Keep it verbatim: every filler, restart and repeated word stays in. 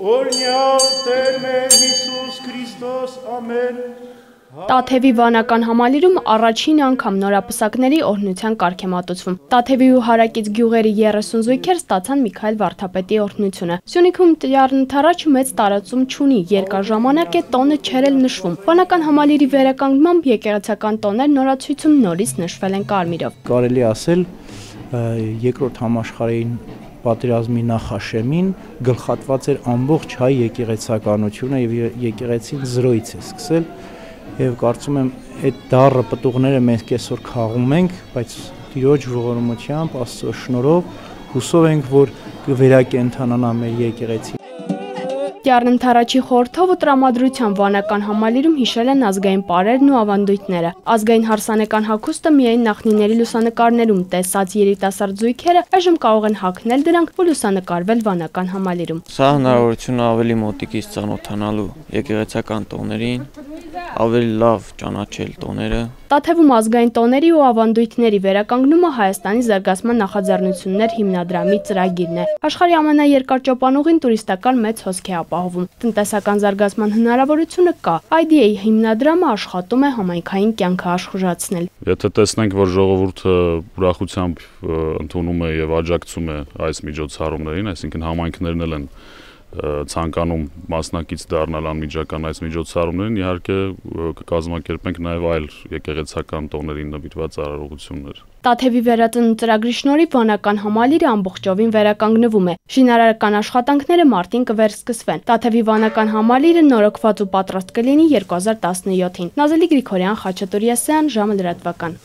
Օրնյալ Տեր մեր Հիսուս Քրիստոս, ամեն։ Տաթևի վանական համալիրում առաջին անգամ նորապսակների օրհնության կարգ է մատուցվում։ Տաթևի ու հարակից գյուղերի երեսուն զույգեր ստացան Միքայել Վարդապետի օրհնությունը։ Սյունիքում Տյառնթարաչը մեծ տարածում չունի, երկար ժամանակ է տոնը չէր էլ նշվում։ Վանական համալիրի վերականգնմամբ եկեղեցական տոներ նորացույցում նորից նշվել են կարմիրով։ Կարելի ասել երկրորդ համաշխարհային պատերազմի նախաշեմին գլխատված էր ամբողջ հայ եկեղեցականությունը եւ եկեղեցին զրոյից է սկսել եւ կարծում եմ այդ դառը պտուղները մենք այսօր քաղում ենք, բայց Տիրոջ ողորմությամբ, Աստծո շնորհով հուսով ենք, որ կվերակենդանանա մեր եկեղեցին։ Տյառնթարաչի խորհրդով ու տրամադրության վանական համալիրում հիշել են ազգային պարերն ու ավանդույթները։ Ազգային հարսանեկան հագուստը միայն նախնիների լուսանկարներում տեսած երիտասարդ զույգերը այժմ կարող են հագնել դրանք ու լուսանկարվել վանական համալիրում։ Սա հնարավորություն ավելի մոտիկից ծանոթանալու եկեղեցական տոներին, ավելի լավ ճանաչել տոները։ Տաթևում ազգային տոների ու ավանդույթների վերականգնումը Հայաստանի զարգացման նախաձեռնություններ հիմնադրամի ծրագիրն է։ Աշխարհի ամենաերկար ճոպանուղին տուրիստական մեծ հոսք է ապահովում։ Տնտեսական զարգացման հնարավորությունը կա։ Այ դի էյ հիմնադրամը աշխատում է համայնքային կյանքը աշխուժացնել։ Եթե տեսնենք, որ ժողովուրդը ուրախությամբ ընդունում է եւ աջակցում է այս միջոցառումներին, այսինքն համայնքներն էլ են ցանկանում մասնակից դառնալ անմիջական այս միջոցառումներին, իհարկե կկազմակերպենք նաև այլ եկեղեցական տոներին նվիրված արարողություններ։ Տաթևի վերածնունդ ծրագրի շնորհիվ վանական համալիրը ամբողջովին վերականգնվում է։ Շինարարական աշխատանքները մարտին կվերսկսվեն։ Տաթևի վանական համալիրը նորոգված ու պատրաստ կլինի երկու հազար տասնյոթին։ Նազելի Գրիգորյան, Խաչատուր Եսայան, ժամը լրատվական։